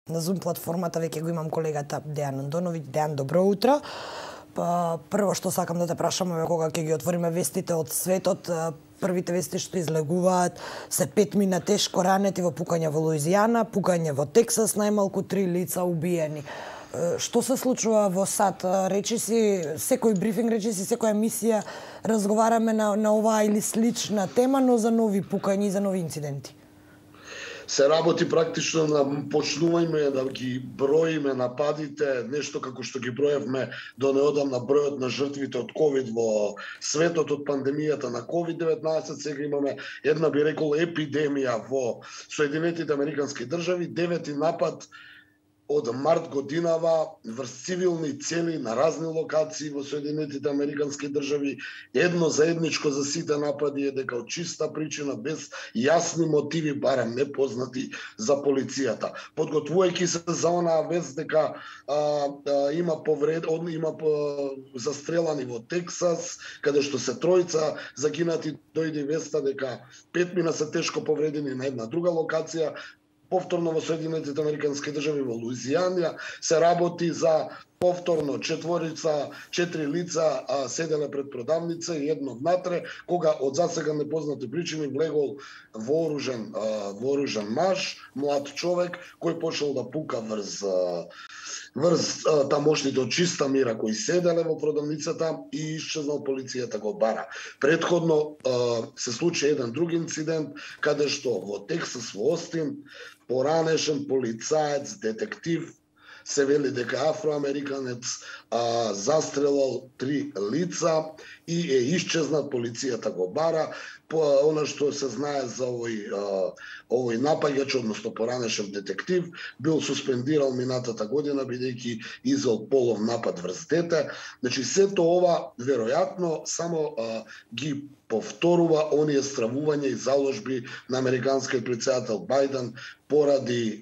на Zoom платформата веќе го имам колегата Дејан Андоновиќ. Дејан, добро утро. Прво што сакам да те прашам е кога ќе ги отвориме вестите од светот. Првите вести што излегуваат се 5 мина тешко ранети во пукање во Луизијана, пукање во Тексас, најмалку 3 лица убиени. Што се случува во САД? Речи си, секој брифинг, речи си, секоја емисија разговараме на оваа или слична тема, но за нови пукања и за нови инциденти. Се работи практично на почнување да ги броиме нападите, нешто како што ги броевме до неодамна бројот на жртвите од ковид во светот од пандемијата на ковид-19. Сега имаме една, би рекол, епидемија во Соединетите Американски држави, 9-ти напад од март годинава врз цивилни цели на разни локации во Соединетите Американски држави. Едно заедничко за сите напади е дека од чиста причина, без јасни мотиви, барем непознати за полицијата. Подготвувајќи се за онаа вест дека има застрелани во Тексас, каде што се тројца загинати, дојде веста дека 5 мина се тешко повредени на една друга локација. Повторно во Соединетите Американски држави во Луизијана се работи за повторно 4 лица седеле пред продавница и едно внатре, кога од засега непознати причини влегол вооружен маж, млад човек, кој почнал да пука врз тамошните од чиста мира кои седеле во продавницата и исчезнал, полицијата го бара. Предходно се случи еден друг инцидент, каде што во Тексас, во Остин, поранешен полицаец, детектив, се вели дека афроамериканец застрелал 3 лица и е исчезнат, полицијата го бара. Она што се знае за овој напаѓач, односно поранешен детектив, бил суспендирал минатата година бидејќи извел полов напад врз дете. Значи сето ова веројатно само ги повторува оние стравувања и заложби на американскиот претседател Бајден поради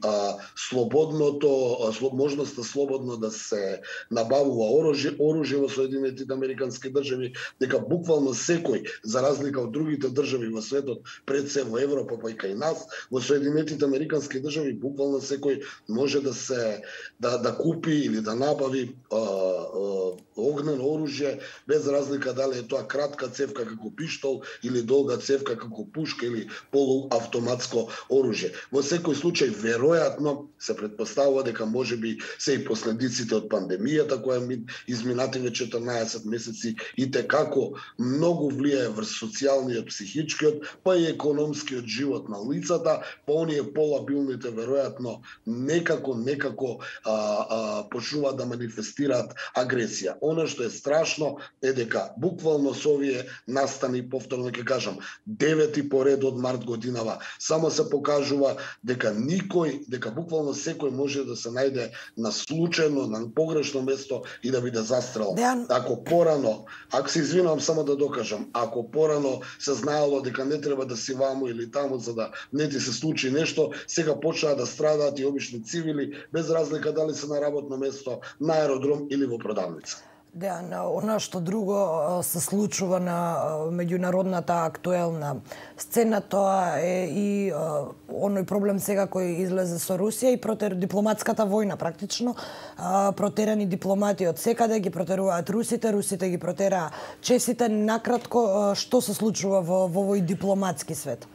можноста слободно да се набавува оружје во Соединетите Американски држави, дека буквално секој, за разлика од другите држави во светот, пред се во Европа, па и кај нас, во Соединетите Американски држави буквално секој може да купи или да набави огнено оружје, без разлика дали е тоа кратка цевка како пиштол или долга цевка како пушка или полуавтоматско оружје. Во секој случај веројатно се претпоставува дека можеби се и последиците од пандемијата која изминативе 14 месеци и текако многу влијае врз социјалниот, психичкиот, па и економскиот живот на лицата, па оние полабилните веројатно некако почнуваат да манифестираат агресија. Она што е страшно е дека буквално со овие настани, повторно ќе кажам, 9-ти поред од март годинава, само се покажува дека буквално секој може да се најде на случајно, на погрешно место и да биде застрелен. Ако се извинувам, само да докажам, ако порано се знаело дека не треба да си ваму или таму за да не ти се случи нешто, сега почнаа да страдаат и обични цивили, без разлика дали се на работно место, на аеродром или во продавница. Да, она што друго се случува на меѓународната актуелна сцена, тоа е и оној проблем сега кој излезе со Русија и дипломатската војна практично. Протерани дипломати од секаде, ги протеруваат русите ги протераа чесите. Накратко, што се случува во овој дипломатски свет?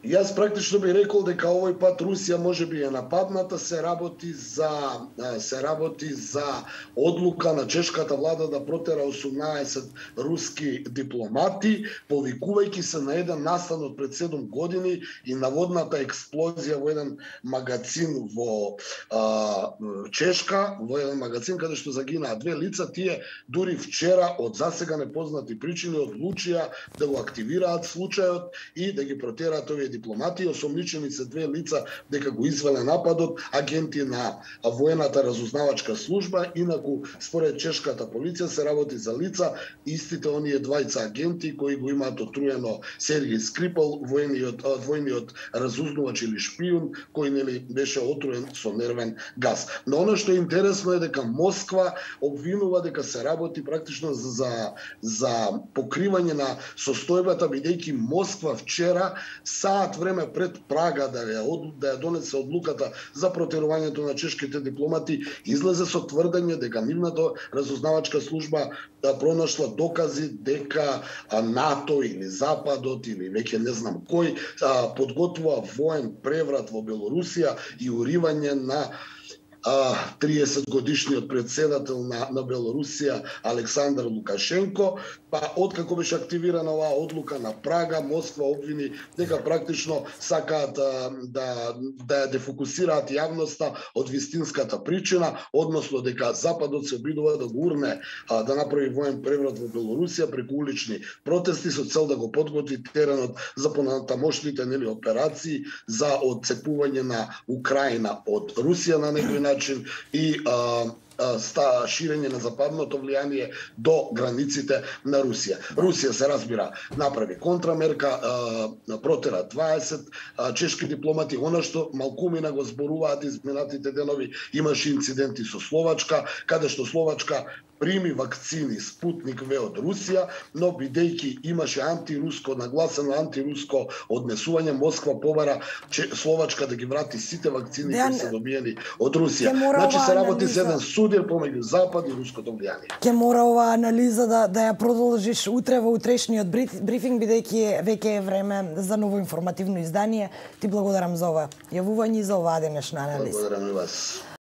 Јас практично би рекол дека овој пат Русија можеби е нападната, се работи за одлука на чешката влада да протера 18 руски дипломати, повикувајќи се на еден настан од пред 7 години и наводната експлозија во еден магазин во Чешка, во еден магазин каде што загинаа 2 лица. Тие дури вчера од засега непознати причини одлучија да го активираат случајот и да ги протераат овие дипломати. Осомничени се 2 лица дека го извеле нападот агенти на воената разузнавачка служба. Инаку според чешката полиција се работи за лица истите оние двајца агенти кои го имаат отруено Сергеј Скрипал, војниот разузнавач или шпион кој беше отруен со нервен газ. Но она што е интересно е дека Москва обвинува дека се работи практично за покривање на состојбата, бидејќи Москва вчера сам саат време пред Прага да ја донесе одлуката за протерувањето на чешките дипломати, излезе со тврдење дека нивната разузнавачка служба пронашла докази дека НАТО или Западот или веќе не знам кој подготвува воен преврат во Белорусија и уривање на 30 годишниот председател на Белорусија Александар Лукашенко, па откако беше активирана оваа одлука на Прага, Москва обвини дека практично сакаат да ја дефокусираат јавноста од вистинската причина, односно дека Западот се обидува да го урне да направи воен преврат во Белорусија преку улични протести со цел да го подготви теренот за понатамошните операции за отцепување на Украина од Русија на некој начин и ширење на западното влијание до границите на Русија. Русија се разбира направи контрамерка, протера 20 чешки дипломати, она што малкумина го зборуваат изминатите денови, имаше инциденти со Словачка, каде што Словачка прими вакцини Спутник В од Русија, но бидејќи имаше антируско, нагласено антируско однесување, Москва побара Словачка да ги врати сите вакцини кои се добиени од Русија. Значи се работи за еден судир помеѓу Запад и руското влијание. Ќе мора оваа анализа да ја продолжиш утре во утрешниот брифинг, бидејќи веќе е време за ново информативно издание. Ти благодарам за ова јавување и за оваа денешна анализа. Благодарам и вас.